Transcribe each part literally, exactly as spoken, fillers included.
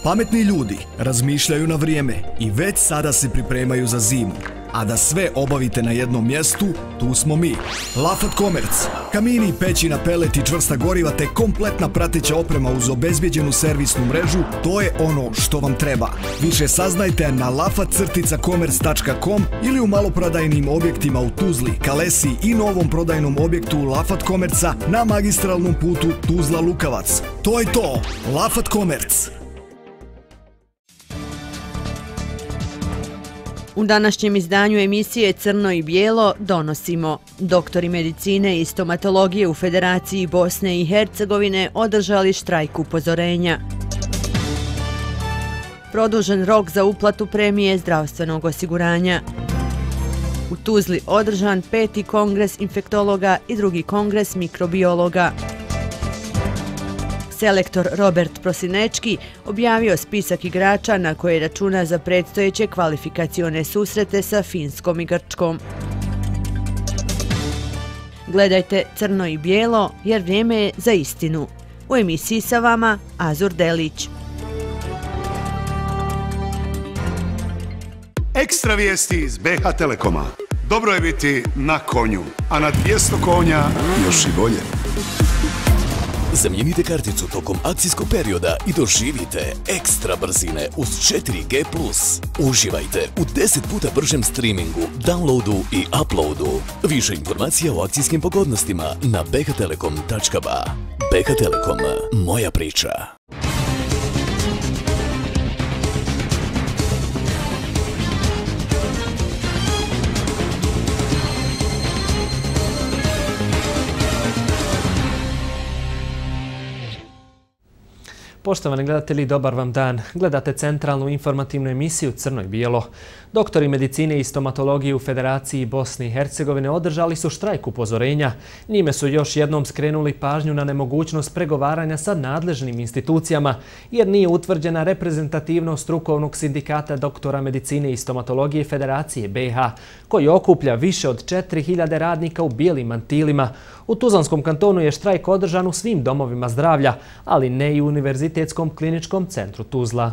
Pametni ljudi razmišljaju na vrijeme i već sada se pripremaju za zimu. A da sve obavite na jednom mjestu, tu smo mi. Lafat Commerce. Kamini, peći na pelet i čvrsta goriva te kompletna prateća oprema uz obezbijeđenu servisnu mrežu, to je ono što vam treba. Više saznajte na lafat commerce tačka com ili u maloprodajnim objektima u Tuzli, Kalesi i novom prodajnom objektu Lafat Commerce na magistralnom putu Tuzla-Lukavac. To je to! Lafat Commerce. U današnjem izdanju emisije Crno i bijelo donosimo: doktori medicine i stomatologije u Federaciji Bosne i Hercegovine održali štrajk upozorenja. Produžen rok za uplatu premije zdravstvenog osiguranja. U Tuzli održan peti kongres infektologa i drugi kongres mikrobiologa. Selektor Robert Prosinečki objavio spisak igrača na koje računa za predstojeće kvalifikacione susrete sa Finskom i Grčkom. Gledajte Crno i bijelo jer vrijeme je za istinu. U emisiji sa vama Azur Delić. Ekstra vijesti iz B H Telekoma. Dobro je biti na konju, a na dvjesto konja još i bolje. Zamijenite karticu tokom akcijskog perioda i doživite ekstra brzine uz četiri G plus. Uživajte u deset puta bržem streamingu, downloadu i uploadu. Više informacija o akcijskim pogodnostima na b h telekom tačka b a. B H Telekom, moja priča. Poštovani gledatelji, dobar vam dan. Gledate centralnu informativnu emisiju Crno i bijelo. Doktori medicine i stomatologije u Federaciji Bosne i Hercegovine održali su štrajk upozorenja. Njime su još jednom skrenuli pažnju na nemogućnost pregovaranja sa nadležnim institucijama, jer nije utvrđena reprezentativnost strukovnog sindikata doktora medicine i stomatologije Federacije B iH, koji okuplja više od četiri hiljade radnika u bijelim mantilima. U Tuzlanskom kantonu je štrajk održan u svim domovima zdravlja, ali ne i u Univerzitetskom kliničkom centru Tuzla.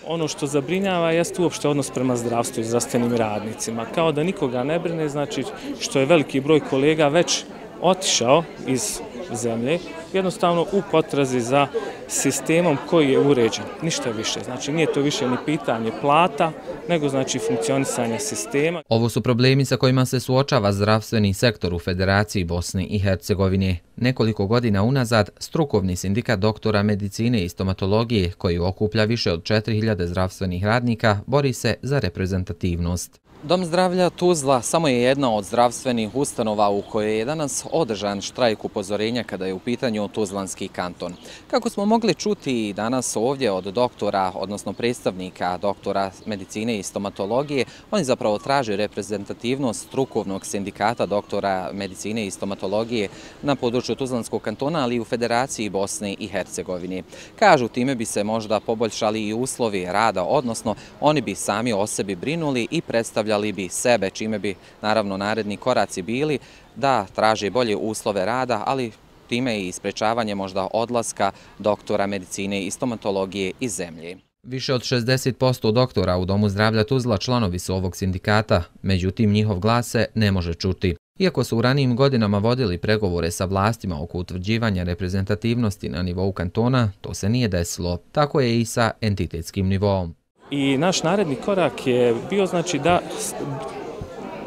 Ono što zabrinjava jest uopšte odnos prema zdravstvu i zdravstvenim radnicima. Kao da nikoga ne brine, znači što je veliki broj kolega već otišao iz zemlje, jednostavno u potrazi za sistemom koji je uređen. Ništa više. Znači nije to više ni pitanje plata, nego znači funkcionisanje sistema. Ovo su problemi sa kojima se suočava zdravstveni sektor u Federaciji Bosne i Hercegovine. Nekoliko godina unazad, strukovni sindikat doktora medicine i stomatologije, koji okuplja više od četiri hiljade zdravstvenih radnika, bori se za reprezentativnost. Dom zdravlja Tuzla samo je jedna od zdravstvenih ustanova u kojoj je danas održan štrajk upozorenja kada je u pitanju Tuzlanski kanton. Kako smo mogli čuti danas ovdje od doktora, odnosno predstavnika doktora medicine i stomatologije, oni zapravo traže reprezentativnost strukovnog sindikata doktora medicine i stomatologije na području Tuzlanskog kantona, ali i u Federaciji Bosne i Hercegovine. Kažu, time bi se možda poboljšali i uslovi rada, odnosno oni bi sami o sebi brinuli i predstavljali bi sebe, čime bi naravno naredni koraci bili da traže bolje uslove rada, ali time i sprečavanje možda odlaska doktora medicine i stomatologije iz zemlje. Više od šezdeset posto doktora u Domu zdravlja Tuzla članovi su ovog sindikata, međutim njihov glas se ne može čuti. Iako su u ranijim godinama vodili pregovore sa vlastima oko utvrđivanja reprezentativnosti na nivou kantona, to se nije desilo. Tako je i sa entitetskim nivoom. I naš naredni korak je bio znači da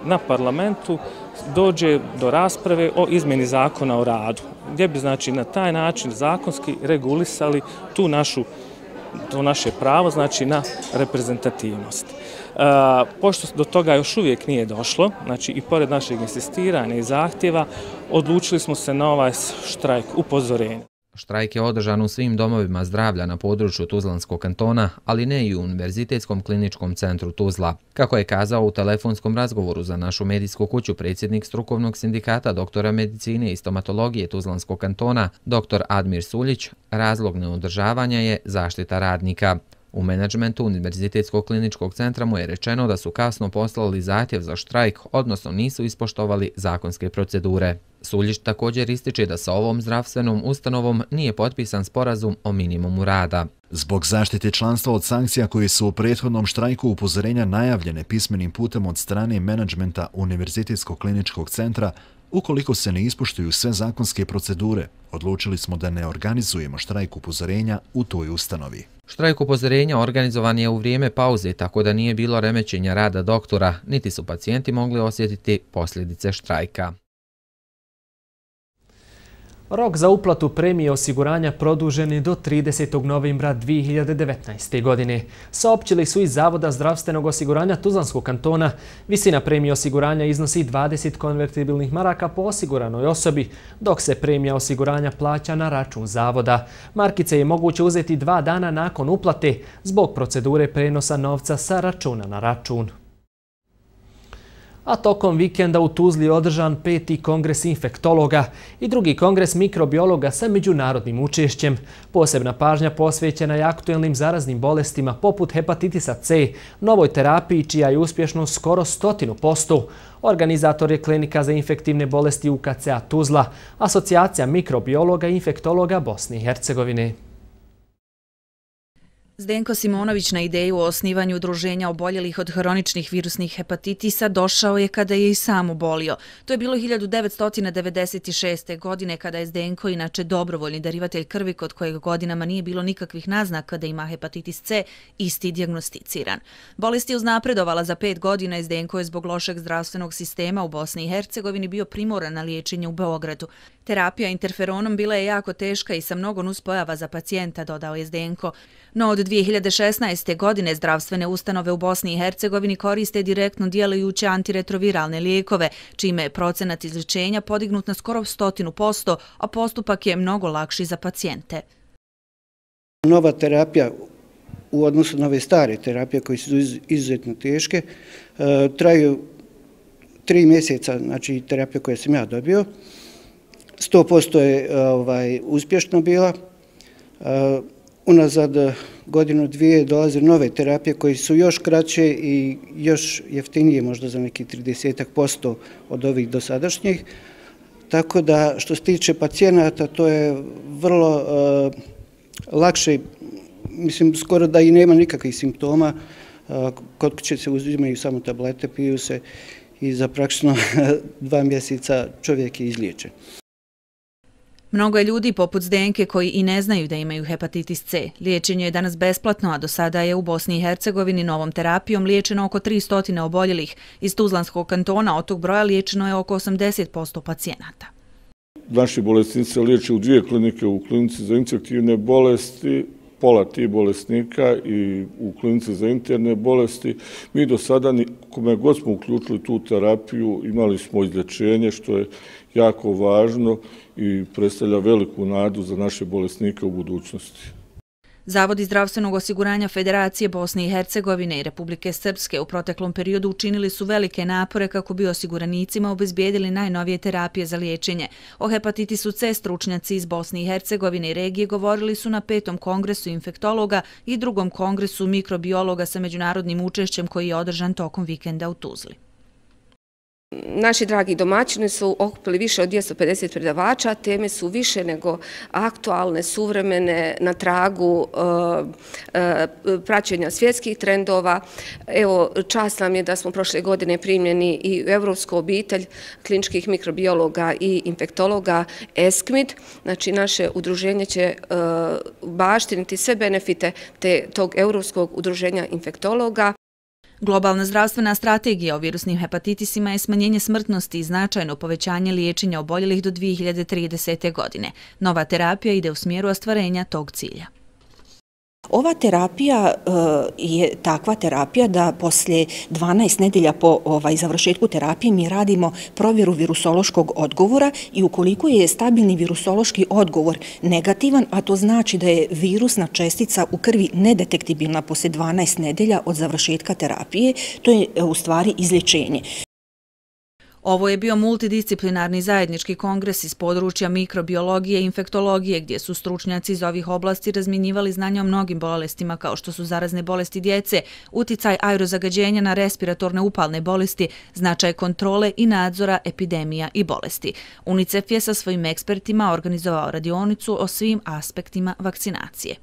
na parlamentu dođe do rasprave o izmjeni zakona o radu, gdje bi znači na taj način zakonski regulisali tu našu, to naše pravo znači na reprezentativnost. E, pošto do toga još uvijek nije došlo, znači i pored našeg insistiranja i zahtjeva, odlučili smo se na ovaj štrajk upozorenja. Štrajk je održan u svim domovima zdravlja na području Tuzlanskog kantona, ali ne i u Univerzitetskom kliničkom centru Tuzla. Kako je kazao u telefonskom razgovoru za našu medijsku kuću predsjednik strukovnog sindikata doktora medicine i stomatologije Tuzlanskog kantona, doktor Admir Suljić, razlog neodržavanja je zaštita radnika. U menadžmentu Univerzitetskog kliničkog centra mu je rečeno da su kasno poslali zahtjev za štrajk, odnosno nisu ispoštovali zakonske procedure. Suljić također ističe da sa ovom zdravstvenom ustanovom nije potpisan sporazum o minimumu rada. Zbog zaštite članstva od sankcija koje su u prethodnom štrajku upozorenja najavljene pismenim putem od strane menadžmenta Univerzitetskog kliničkog centra, ukoliko se ne ispoštuju sve zakonske procedure, odlučili smo da ne organizujemo štrajk upozorenja u toj ustanovi. Štrajk upozorenja organizovan je u vrijeme pauze, tako da nije bilo remećenja rada doktora, niti su pacijenti mogli osjetiti posljedice štrajka. Rok za uplatu premije osiguranja produžen je do tridesetog novembra dvije hiljade devetnaeste. godine. Saopćili su iz Zavoda zdravstvenog osiguranja Tuzlanskog kantona. Visina premije osiguranja iznosi dvadeset konvertibilnih maraka po osiguranoj osobi, dok se premija osiguranja plaća na račun Zavoda. Markice je moguće uzeti dva dana nakon uplate zbog procedure prenosa novca sa računa na račun. A tokom vikenda u Tuzli je održan peti kongres infektologa i drugi kongres mikrobiologa sa međunarodnim učešćem. Posebna pažnja posvećena je aktuelnim zaraznim bolestima poput hepatitisa C, novoj terapiji čija je uspješnost skoro stotinu posto. Organizator je Klinika za infektivne bolesti U K C A Tuzla, Asocijacija mikrobiologa i infektologa Bosne i Hercegovine. Zdenko Simonović na ideju o osnivanju udruženja oboljelih od hroničnih virusnih hepatitisa došao je kada je i sam obolio. To je bilo hiljadu devetsto devedeset šeste. godine kada je Zdenko, inače dobrovoljni darivatelj krvi kod kojeg godinama nije bilo nikakvih naznaka da ima hepatitis C, isti dijagnosticiran. Bolest je uznapredovala za pet godina i Zdenko je zbog lošeg zdravstvenog sistema u Bosni i Hercegovini bio primoran na liječenje u Beogradu. Terapija interferonom bila je jako teška i sa mnogo nuspojava za pacijenta, dodao je Zdenko. No od dvije hiljade šesnaeste. godine zdravstvene ustanove u Bosni i Hercegovini koriste direktno djelujuće antiretroviralne lijekove, čime je procenat izlječenja podignut na skoro stotinu posto, a postupak je mnogo lakši za pacijente. Nova terapija u odnosu na ove stare terapije koje su izuzetno teške traju tri mjeseca, znači terapija koju sam ja dobio. sto posto je ovaj, uspješno bila. Unazad godinu dvije dolaze nove terapije koje su još kraće i još jeftinije, možda za neki trideset posto od ovih dosadašnjih. Tako da što se tiče pacijenata, to je vrlo uh, lakše, mislim skoro da i nema nikakvih simptoma. Uh, kod kuće se uzimaju samo tablete, piju se i za praktično dva mjeseca čovjek je izliječen. Mnogo je ljudi poput Zdenke koji i ne znaju da imaju hepatitis C. Liječenje je danas besplatno, a do sada je u Bosni i Hercegovini novom terapijom liječeno oko tristo oboljelih. Iz Tuzlanskog kantona od tog broja liječeno je oko osamdeset posto pacijenata. Naši bolesnici se liječe u dvije klinike, u klinici za infektivne bolesti, pola tih bolesnika i u klinici za interne bolesti. Mi do sada, kome god smo uključili tu terapiju, imali smo izlječenje, što je jako važno i predstavlja veliku nadu za naše bolesnike u budućnosti. Zavodi zdravstvenog osiguranja Federacije Bosne i Hercegovine i Republike Srpske u proteklom periodu učinili su velike napore kako bi osiguranicima obezbijedili najnovije terapije za liječenje. O hepatitisu C stručnjaci iz Bosne i Hercegovine i regije govorili su na petom kongresu infektologa i drugom kongresu mikrobiologa sa međunarodnim učešćem koji je održan tokom vikenda u Tuzli. Naši dragi domaćini su okupili više od dvjesto pedeset predavača, teme su više nego aktualne, suvremene, na tragu praćenja svjetskih trendova. Evo, čast nam je da smo prošle godine primljeni i u Evropsku obitelj kliničkih mikrobiologa i infektologa E S C M I D. Znači, naše udruženje će baštiniti sve benefite tog Evropskog udruženja infektologa. Globalna zdravstvena strategija o virusnim hepatitisima je smanjenje smrtnosti i značajno povećanje liječenja oboljelih do dvije hiljade tridesete. godine. Nova terapija ide u smjeru ostvarenja tog cilja. Ova terapija uh, je takva terapija da poslije dvanaest nedelja po ovaj, završetku terapije mi radimo provjeru virusološkog odgovora i ukoliko je stabilni virusološki odgovor negativan, a to znači da je virusna čestica u krvi nedetektibilna poslije dvanaest nedelja od završetka terapije, to je u stvari izlječenje. Ovo je bio multidisciplinarni zajednički kongres iz područja mikrobiologije i infektologije, gdje su stručnjaci iz ovih oblasti razmjenjivali znanja o mnogim bolestima kao što su zarazne bolesti djece, uticaj aerozagađenja na respiratorne upalne bolesti, značaj kontrole i nadzora epidemija i bolesti. UNICEF je sa svojim ekspertima organizovao radionicu o svim aspektima vakcinacije.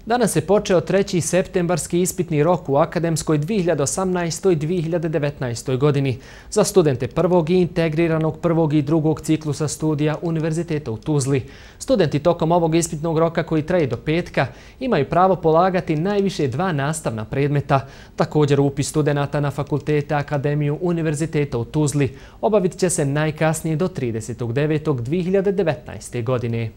Danas je počeo treći septembarski ispitni rok u akademskoj dvije hiljade osamnaestoj dvije hiljade devetnaestoj godini za studente prvog i integriranog prvog i drugog ciklusa studija Univerziteta u Tuzli. Studenti tokom ovog ispitnog roka koji traje do petka imaju pravo polagati najviše dva nastavna predmeta. Također upis studenata na fakultete Akademiju Univerziteta u Tuzli obavit će se najkasnije do tridesetog devetog dvije hiljade devetnaeste. godine.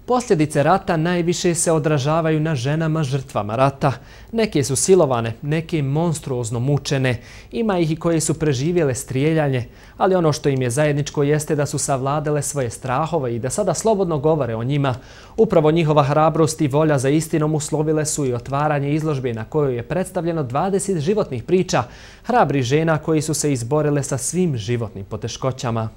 Posljedice rata najviše se odražavaju na ženama žrtvama rata. Neke su silovane, neke monstruozno mučene. Ima ih i koje su preživjele strijeljanje, ali ono što im je zajedničko jeste da su savladale svoje strahove i da sada slobodno govore o njima. Upravo njihova hrabrost i volja za istinom uslovile su i otvaranje izložbe na kojoj je predstavljeno dvadeset životnih priča hrabrih žena koji su se izborile sa svim životnim poteškoćama.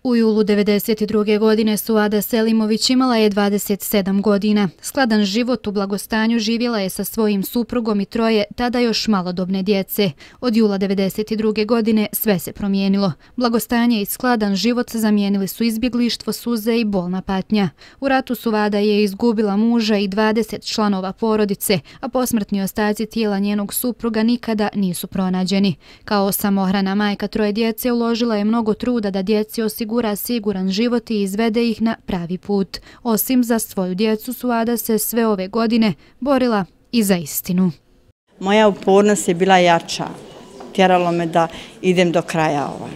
U julu devedeset druge. godine Suada Selimović imala je dvadeset sedam godina. Skladan život u blagostanju živjela je sa svojim suprugom i troje tada još malodobne djece. Od jula devedeset druge. godine sve se promijenilo. Blagostanje i skladan život zamijenili su izbjeglištvo, suze i bolna patnja. U ratu Suada je izgubila muža i dvadeset članova porodice, a posmrtni ostaci tijela njenog supruga nikada nisu pronađeni. Kao samohrana majka troje djece uložila je mnogo truda da djeci osigura siguran život i izvede ih na pravi put. Osim za svoju djecu, Suada se sve ove godine borila i za istinu. Moja upornost je bila jača. Tjeralo me da idem do kraja ovaj.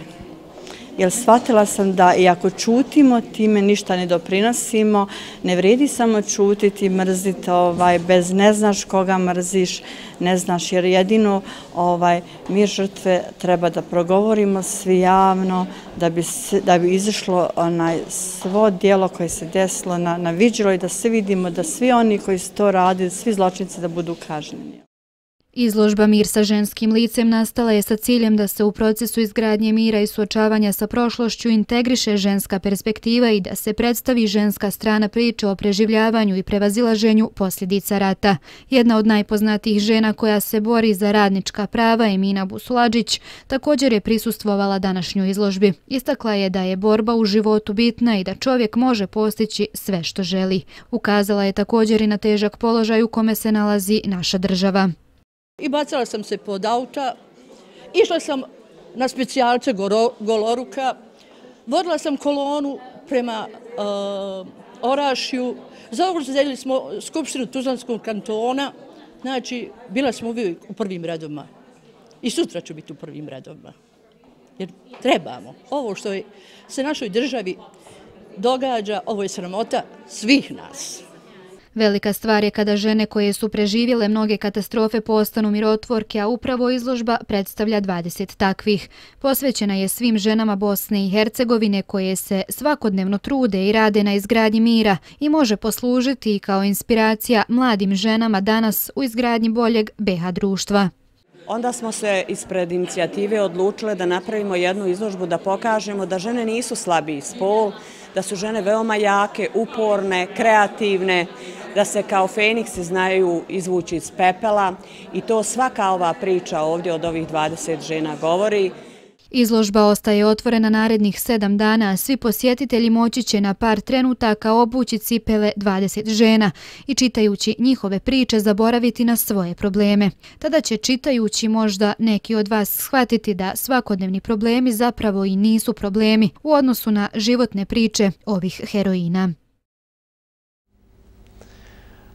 Jer shvatila sam da i ako čutimo, time ništa ne doprinosimo, ne vredi samo čutiti, mrziti, ovaj, bez ne znaš koga mrziš, ne znaš, jer jedino ovaj, mi žrtve treba da progovorimo svi javno, da bi, da bi izašlo onaj, svo djelo koje se desilo na, na viđilo i da se vidimo da svi oni koji su to radili, svi zločinci da budu kažnjeni. Izložba Mir sa ženskim licem nastala je sa ciljem da se u procesu izgradnje mira i suočavanja sa prošlošću integriše ženska perspektiva i da se predstavi ženska strana priče o preživljavanju i prevazilaženju posljedica rata. Jedna od najpoznatijih žena koja se bori za radnička prava, Emina Busuladžić, također je prisustvovala današnjoj izložbi. Istakla je da je borba u životu bitna i da čovjek može postići sve što želi. Ukazala je također i na težak položaj u kome se nalazi naša država. I bacala sam se pod auta, išla sam na specijalce Goloruka, vodila sam kolonu prema uh, Orašju, zauzeli smo Skupštinu Tuzlanskog kantona, znači bila smo uvijek u prvim redovima i sutra ću biti u prvim redovima, jer trebamo. Ovo što je se našoj državi događa, ovo je sramota svih nas. Velika stvar je kada žene koje su preživjele mnoge katastrofe postanu mirotvorke, a upravo izložba predstavlja dvadeset takvih. Posvećena je svim ženama Bosne i Hercegovine koje se svakodnevno trude i rade na izgradnji mira i može poslužiti kao inspiracija mladim ženama danas u izgradnji boljeg be ha društva. Onda smo se ispred inicijative odlučile da napravimo jednu izložbu da pokažemo da žene nisu slabiji spol, da su žene veoma jake, uporne, kreativne, da se kao feniksi znaju izvući iz pepela i to svaka ova priča ovdje od ovih dvadeset žena govori. Izložba ostaje otvorena narednih sedam dana, a svi posjetitelji moći će na par trenutaka obući cipele dvadeset žena i čitajući njihove priče zaboraviti na svoje probleme. Tada će čitajući možda neki od vas shvatiti da svakodnevni problemi zapravo i nisu problemi u odnosu na životne priče ovih heroina.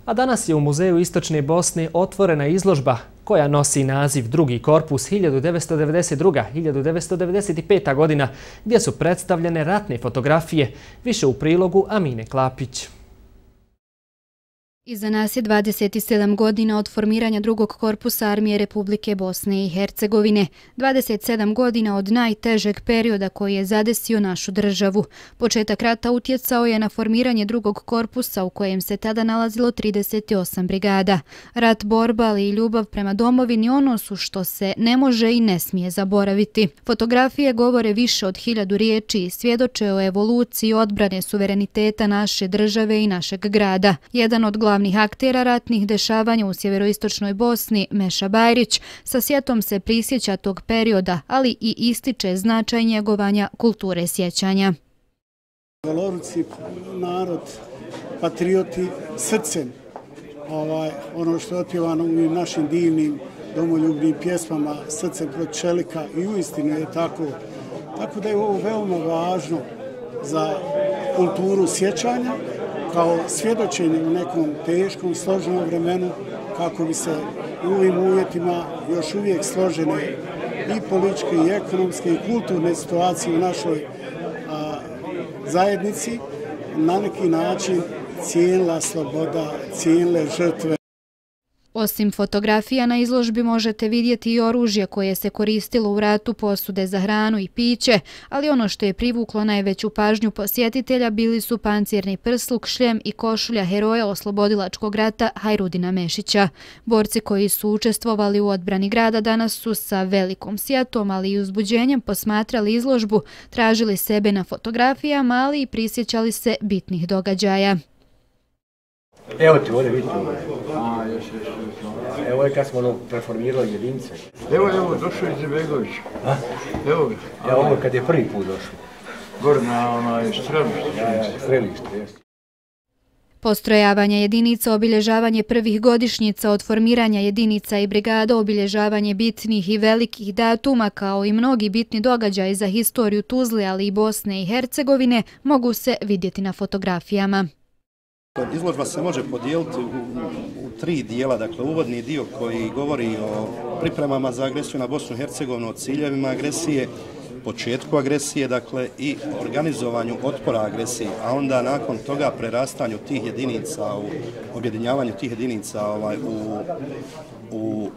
A danas je u Muzeju Istočne Bosne otvorena izložba koja nosi naziv Drugi korpus hiljadu devetsto devedeset druga do hiljadu devetsto devedeset peta. godina, gdje su predstavljene ratne fotografije, više u prilogu Amine Klapić. Iza nas je dvadeset sedam godina od formiranja drugog korpusa Armije Republike Bosne i Hercegovine, dvadeset sedam godina od najtežeg perioda koji je zadesio našu državu. Početak rata utjecao je na formiranje drugog korpusa u kojem se tada nalazilo trideset osam brigada. Rat, borba, ali i ljubav prema domovini ono su što se ne može i ne smije zaboraviti. Fotografije govore više od hiljadu riječi i svjedoče o evoluciji odbrane suvereniteta naše države i našeg grada. Jedan od glavnih aktera ratnih dešavanja u sjeveroistočnoj Bosni, Meša Bajrić, sa sjetom se prisjeća tog perioda, ali i ističe značaj njegovanja kulture sjećanja. Goloruci, narod, patrioti, srcem, ovaj, ono što je otpjevano u našim divnim domoljubnim pjesmama, srcem protiv čelika, i uistinu je tako. Tako da je ovo veoma važno za kulturu sjećanja, kao svjedočenje u nekom teškom, složenom vremenu, kako bi se u ovim uvjetima još uvijek složene i političke, i ekonomske, i kulturne situacije u našoj a, zajednici na neki način cijenila sloboda, cijenile žrtve. Osim fotografija na izložbi možete vidjeti i oružje koje se koristilo u ratu, posude za hranu i piće, ali ono što je privuklo najveću pažnju posjetitelja bili su pancirni prsluk, šljem i košulja heroja oslobodilačkog rata Hajrudina Mešića. Borci koji su učestvovali u odbrani grada danas su sa velikom sjetom, ali i uzbuđenjem posmatrali izložbu, tražili sebe na fotografijama, ali i prisjećali se bitnih događaja. Evo ti ovdje vidite. A, još, još, još. Evo je kad smo ono preformirali jedinice. Evo, evo, došao je Izetbegović. A? Evo ga. Ja, ovo kad je prvi put došao. Gore na onaj strelište. Ja, ja, strelište, jes. Postrojavanje jedinica, obilježavanje prvih godišnjica od formiranja jedinica i brigada, obilježavanje bitnih i velikih datuma kao i mnogi bitni događaji za historiju Tuzle, ali i Bosne i Hercegovine mogu se vidjeti na fotografijama. Izložba se može podijeliti u, u tri dijela, dakle uvodni dio koji govori o pripremama za agresiju na Bosnu i Hercegovinu, o ciljevima agresije, početku agresije, dakle i organizovanju otpora agresiji, a onda nakon toga prerastanju tih jedinica, u objedinjavanju tih jedinica ovaj, u, u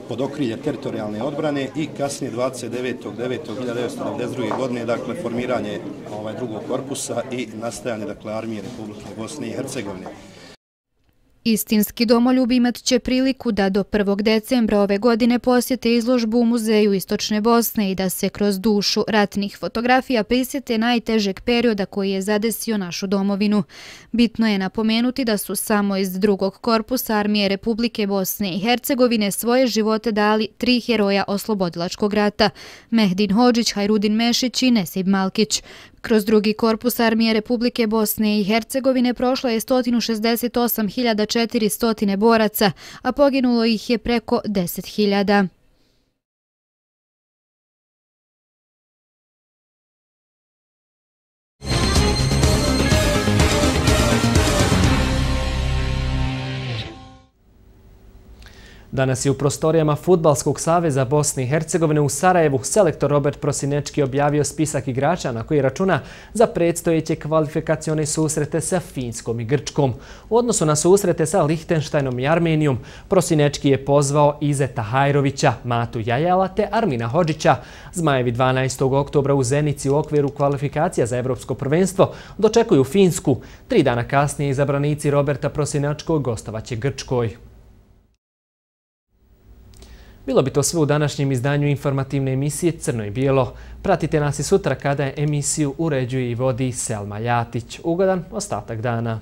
pod okrilje teritorijalne odbrane i kasnije dvadeset devetog devetog hiljade devetsto devedeset druge godine, dakle formiranje ovaj, drugog korpusa i nastajanje, dakle, Armije Republike Bosne i Hercegovine. Istinski domoljub imat će priliku da do prvog decembra ove godine posjete izložbu u Muzeju Istočne Bosne i da se kroz dušu ratnih fotografija prisjete najtežeg perioda koji je zadesio našu domovinu. Bitno je napomenuti da su samo iz drugog korpusa Armije Republike Bosne i Hercegovine svoje živote dali tri heroja oslobodilačkog rata: Mehdin Hodžić, Hajrudin Mešić i Nesib Malkić. Kroz drugi korpus Armije Republike Bosne i Hercegovine prošlo je sto šezdeset osam hiljada četiristo boraca, a poginulo ih je preko deset hiljada. Danas je u prostorijama Fudbalskog saveza Bosne i Hercegovine u Sarajevu selektor Robert Prosinečki objavio spisak igrača na koji računa za predstojeće kvalifikacione susrete sa Finskom i Grčkom. U odnosu na susrete sa Lihtenštajnom i Armenijom, Prosinečki je pozvao Izeta Hajrovića, Matu Jajala te Armina Hodžića. Zmajevi dvanaestog oktobra u Zenici u okviru kvalifikacija za Evropsko prvenstvo dočekuju Finsku. Tri dana kasnije izabranici Roberta Prosinečkog gostovaće Grčkoj. Bilo bi to sve u današnjem izdanju informativne emisije Crno i bijelo. Pratite nas i sutra kada emisiju uređuje i vodi Selma Ljatić. Ugodan ostatak dana.